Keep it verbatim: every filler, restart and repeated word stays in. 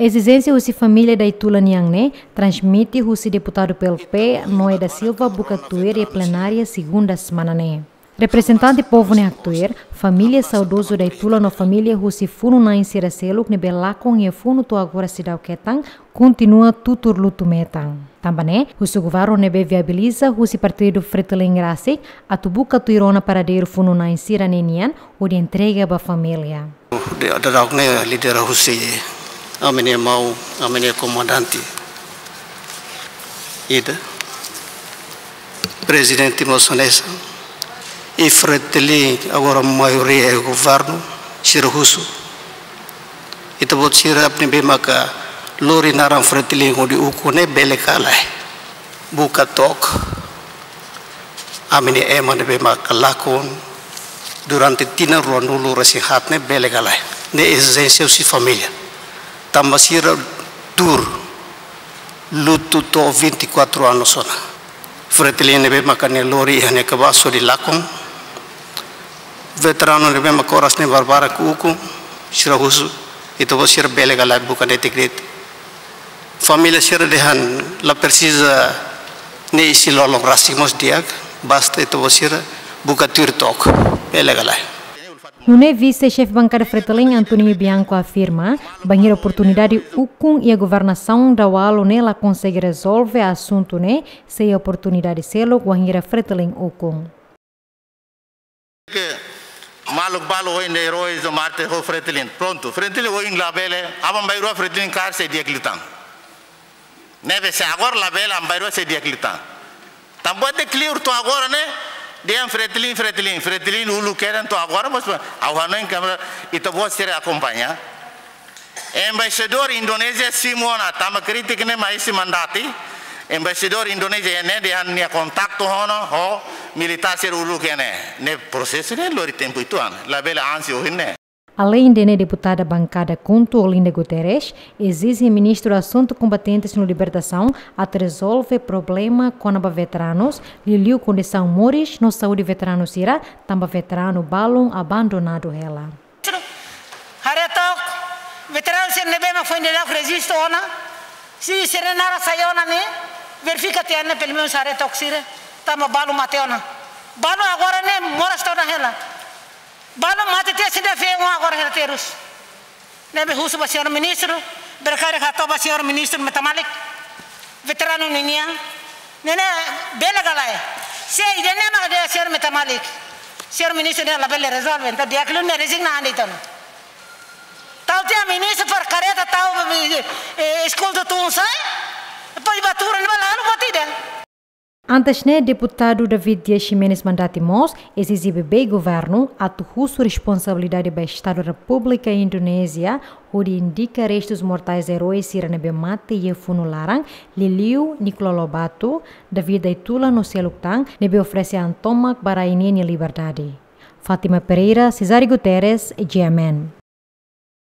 Ezijénsia husi família Daitula nian ne'e transmite husi deputadu P L P, Noé da Silva, buka tuir iha plenária segunda semana ne'e. Reprezentante povu ne'e haktuir, família saudozu Daitula no família husi funu-na'in sira seluk ne'ebé lakon iha funu to'o agora seidauk hetan, kontinua tutur lutu metan. Tanba ne'e, husu governu ne'ebé viabiliza husi partidu Fretilin rasik, atu buka tuir ona paradeiru funu-na'in sira-ne'e nian, hodi entrega ba família. Dadaun ne'e lidera husi ami-nia maun, ami-nia komandante ida, prezidente mós hanesan, i Fretilin agora maioria iha governu, sira husu. Ita-boot sira ne'ebé maka lori naran Fretilin hodi ukun ne'e bele ka lae. Buka took ami-nia ema ne'ebé maka lakon durante tinan ruanulu-resin-haat ne'e bele ka lae. Ne'e ezijénsia husi família. Tanba sira tuur lutu to'o vinte e quatro anos ona. Fretilin ne'ebé maka nia lori iha nia kabaas hodi lakon. Veteranu ne'ebé maka oras ne'e barbarak ukun, sira husu, ita-boot sira bele ka lae buka netik de'it. Família sira dehan la presiza ne'e isin-lolon rasik mós di'ak, basta ita-boot sira buka tuir took, bele ka lae. Nune'e vise-xefe bankada Fretilin Antoninho Bianco afirma, bainhira oportunidade ukun iha governasaun Daualo ne'e la konsege rezolve asuntu ne'e, sei iha oportunidade seluk wainhira Fretilin ukun. Ke maluk balu ohin dehan heróis do mártir ho Fretilin. Prontu, Fretilin ohin labele, aban-bainrua Fretilin kaer sei di'ak liután. Ne'ebé se agora labele, aban-bainrua sei di'ak liután. Tanba ita kleur to'o agora ne'e, dehan Fretilin, Fretilin, Fretilin uluk kedan to'o agora, mas ha'u hanoin katak ita-boot sira akompaña. Embaixadór Indonézia simu ona, tanba krítika ne'e mai husi mandati. Embaixadór Indonézia ne'e dehan nia kontaktu ona ho militár sira uluk ne'e. Ne'e prosesu ne'e lori tempu uitoan. Labele ansi ohin ne'e. Aleinde ne'e, deputada bankada KHUNTO Olinda Guterres ezije ministru asuntu kombatentes no libertasaun atu rezolve problema kona-ba veteranus, liuliu kondisaun moris no saúde veteranu sira, tanba veteranu balun abandonadu hela. Haree took, veteranu sira ne'ebé mak foin daudauk rejistu ona, se sira-nia naran sai ona ne'e, verifika tiha ne'e pelumenus haree took sira, tanba balu mate ona. Balu agora ne'e moras tiha ona hela. Balu mate tiha sira feen agora hela terus. Ne'ebé husu ba señór ministru, bele karik hato'o ba señór ministru metamalik. Veteranu ninian. Ne'e ne'e bele ka lae. Se ida-ne'e mak dehan señór metamalik. Señór ministru ne'e labele rezolve, entaun di'ak liu ne'e rezigna an de'it ona. Tau tiha ministru para kareta tau, eh, eskolta tun sai. Depois ba tuur ne'ebá lalu buat ida. Antes ne'e, deputadu David Dias Ximenes mandati mós ezije ba governu atu husu responsabilidade ba Estadu Repúblika Indonézia, hodi indika restus mortais heróis sira ne'ebé mate iha funu laran, liuliu Nicolau Lobato, David Daitula no seluk tan, ne'ebé oferese an tomak ba rai ninia liberdade. Fátima Pereira, Cesário Guterres, G M N.